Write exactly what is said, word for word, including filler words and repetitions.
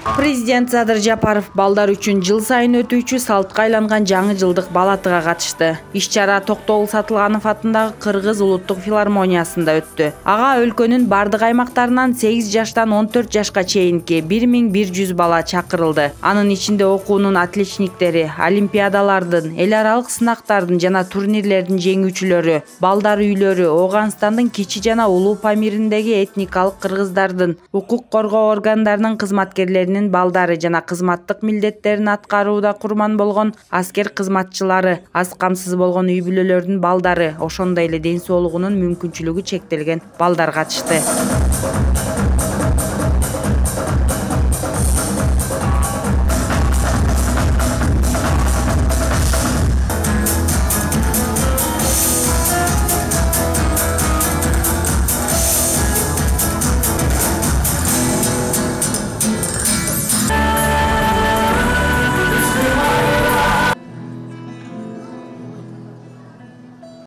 Президент Садыр Жапаров балдар үчүн жыл сайын өтүүчү салтка айланган жаңы жылдык балатыга катышты. Иш-чара Токтогул Сатылганов атындагы Кыргыз улуттук филармониясында өттү. Ага өлкөнүн бардык аймактарынан сегиз жаштан он төрт жашка чейинки бир миң бир жүз бала чакырылды. Анын ичинде окуунун отличниктери, олимпиадалардын, эл аралык сынактардын жана турнирлердин жеңүүчүлөрү, балдар үйлөрү, Ооганстандын Кичи жана Улуу Памириндеги этникалык кыргыздардын, укук коргоо органдарынын кызматкерлеринин балдары жана кызматтык милдеттерин аткарууда курман болгон аскер кызматчылары, аз камсыз болгон үй бүлөлөрдүн балдары, ошондой эле ден соолугунун мүмкүнчүлүгү чектелген балдар катышты.